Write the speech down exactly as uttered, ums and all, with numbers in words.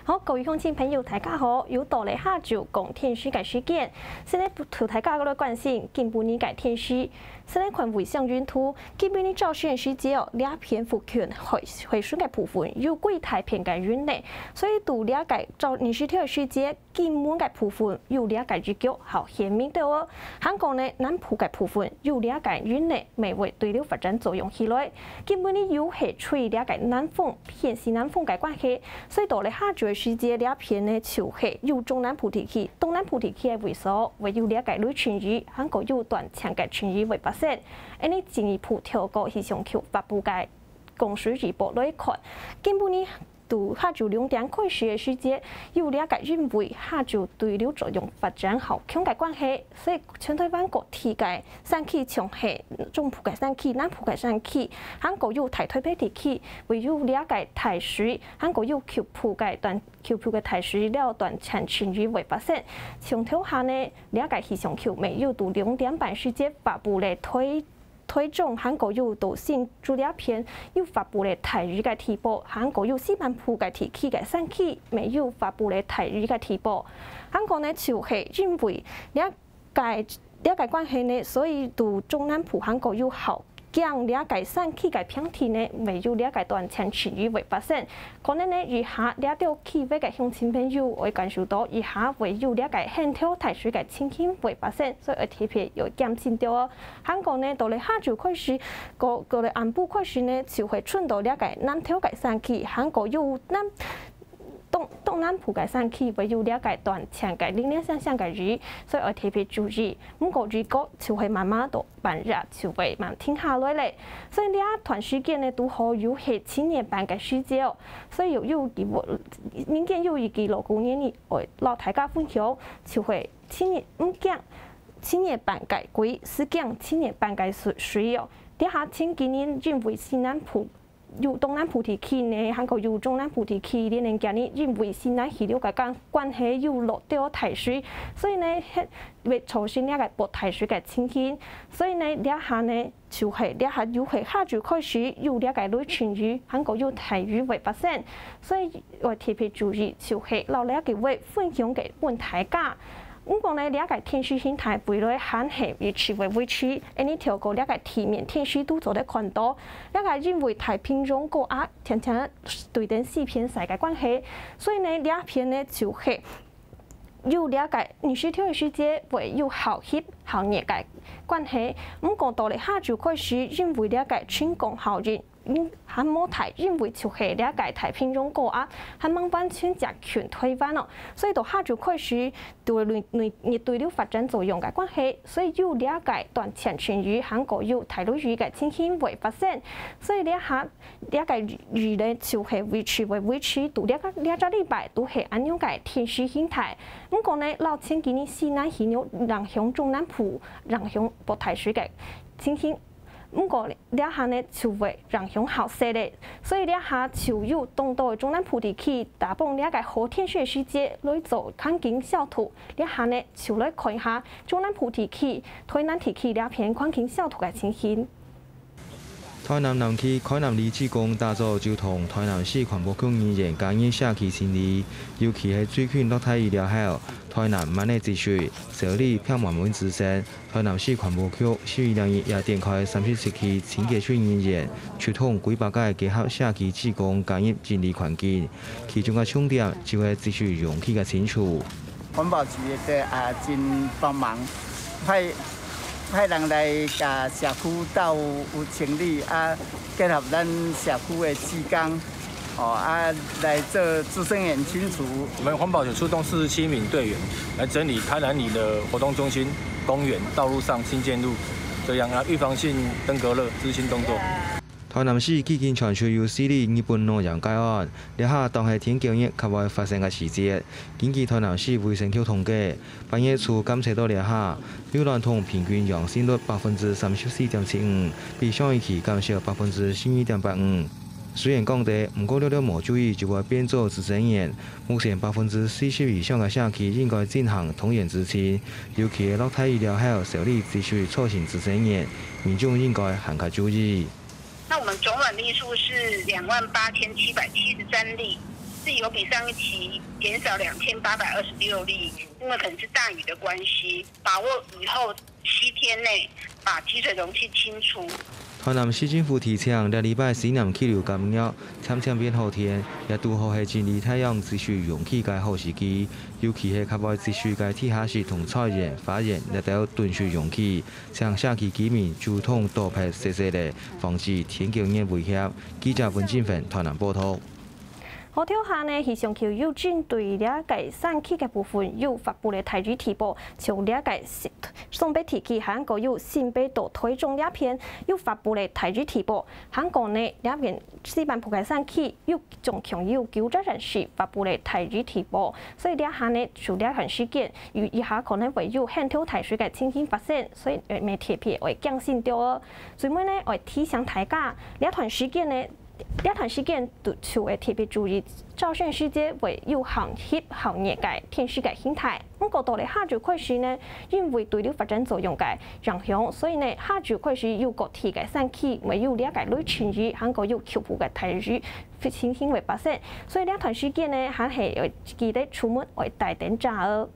好，各位鄉親朋友，大家好！又到了下晝講天時个時間，先來同大家來關心今晡日个天時。先來看衛星雲圖，今晡日朝晨个時節哦，這片附近會會順个部分有幾大片个雲呢，所以在這个朝日時頭个時節， 今晡个部分有這个雨腳，好顯明个哦。還過呢，南部个部分有這个雲呢，乜會對流發展作用起來。今晡日又係吹這个南風，偏西南風个關係，所以到了下晝个時節，這片呢就係有中南部地區、東南部地區个位所會有這个雷陣雨，還過有短暫个陣雨會發生。恁呢進一步透過氣象局發布个降水預報來看，今晡日 在下晝兩點開始个時節，有這个因為下晝對流作用發展較強个關係，所以全台灣各地个山區，像係中部个山區、南部个山區，還過有大台北地區，會有這个大水，還過有局部个短、局部个大水了短暫陣雨會發生。像頭下呢，這个氣象局乜有在兩點半時節發布了台 台中還過有在新竹這片有發布了大雨个地報，還過有西半部个地區个山區乜有發布了大雨个地報。還過呢，就係因為這个、這个關係呢，所以在中南部還過有較強這个山區个平地呢，乜有這个短暫陣雨會發生。可能呢，以下這兜區域个鄉親朋友會感受到，以下會有這个很大大水个情形會發生，所以愛特別要檢慎著哦。 還過呢，到了下晝開始，過、過了暗晡開始呢，就會傳到這个南投个山區，還過有南、東、東南部个山區會有這个短暫个零零星星个雨，所以愛特別注意。毋過雨過就會慢慢到半日就會慢停下來咧。所以這段時間呢，堵好又係七月半个時節哦，所以有、有、民間有一句老古言語，愛摎大家分享，就係 七月毋驚七月半个鬼，係驚七月半个水、水哦。這下前幾日因為西南部、有東南部地區呢，還過有中南部地區，連連幾日因為西南氣流个關、關係有落到大水，所以呢，會造成這个暴大水个情形。所以呢，這下呢， 就係這下又係下晝開始有這个雷陣雨，還過有大雨會發生，所以愛特別注意，就係摎這个會分享个分大家。毋過呢，這个天時形態未來還係維持會維持，恁呢透過這个地面天時圖做得看到，這个因為太平洋高壓定定對等西偏西个關係，所以呢，這片呢就係 有這个日時頭个時節會有較翕較熱个關係，毋過到了下晝開始，因為這个晴光效應，嗯，還無大，因為就係這个太平洋高壓，還吂完全接近台灣哦，所以到下晝開始，對熱、熱、熱對流發展作用个關係，所以有這个短暫陣雨，還過有大雷雨个情形會發生，所以這下 這个雨呢，就係維持會維持到這个、這隻禮拜都係恁樣个天時形態。毋過呢，摎前幾日西南氣流影響中南部，影響暴大水个情形。毋過這下呢，就會影響較細咧，所以這下就有當多个中南部地區，打幫這个好天時个時節來做環境消毒。這下呢，就來看一下中南部地區、台南地區這片環境消毒个情形。 台南南區開南里志工打早就同台南市環保局人員加入社區清理，尤其係最近落大雨了後，台南滿地積水，修理遍滿蚊子身。台南市環保局十二月二十一也展開三十七區清潔隊人員，出動幾百个結合社區志工加入整理環境，其中个重點就係積水容器个清除。 環保局也啊真幫忙，派派人來甲社區鬥有清理啊，結合咱社區的志工，哦啊來做資生員清除。我們環保局出動四十七名隊員來整理台南里的活動中心、公園、道路上、新建路，這樣啊預防性登革熱資訊動作。 台南市最近傳出有四例日本腦炎個案，這下當係天狗熱較會發生个時節。根據台南市衛生局統計，八月初監測到這下，有源頭平均陽性率百分之三十四點七五，比上一期減少百分之十二點八五。雖然降低，毋過略略無注意就會變做資生炎。目前百分之四十以上个社區應該進行動員執勤，尤其係落大雨了後，修理積水造成資生炎，民眾應該還較注意。 那我們總軟例數是兩萬八千七百七十三例，是有比上一期减少两千八百二十六例，因为可能是大雨的关系，把握雨后七天内把积水容器清除。台南市政府提醒，這禮拜西南氣流減弱，漸漸變好天，也拄好係整理大量積水容器个好時機。尤其係較會積水个地下室同菜園、花園這兜囤水容器，請社區居民主動倒撇細細个，防止天降熱威脅。記者溫振芬台南報導。 好，頭下呢，氣象局有針對這个山區个部分有發布个大雨特報，像這个新，雙北地區還過有新北到台中這片有發布个大雨特報，還過呢，這片西半部个山區有總共有九隻縣市發布个大雨特報，所以這下呢，就這段時間，有一下可能會有很大大水个情形發生，所以呃，愛特別愛警醒著哦。最尾呢，愛提醒大家，這段時間呢， 這段時間就愛特別注意，朝晨時節會有寒溅寒熱个天時个形態。毋過到了下晝開始呢，因為對流發展作用个影響，所以呢，下晝開始有各地个山區會有這个雷陣雨，還過有局部个大雨情形會發生。所以這段時間呢，還係愛記得出門愛帶等遮哦。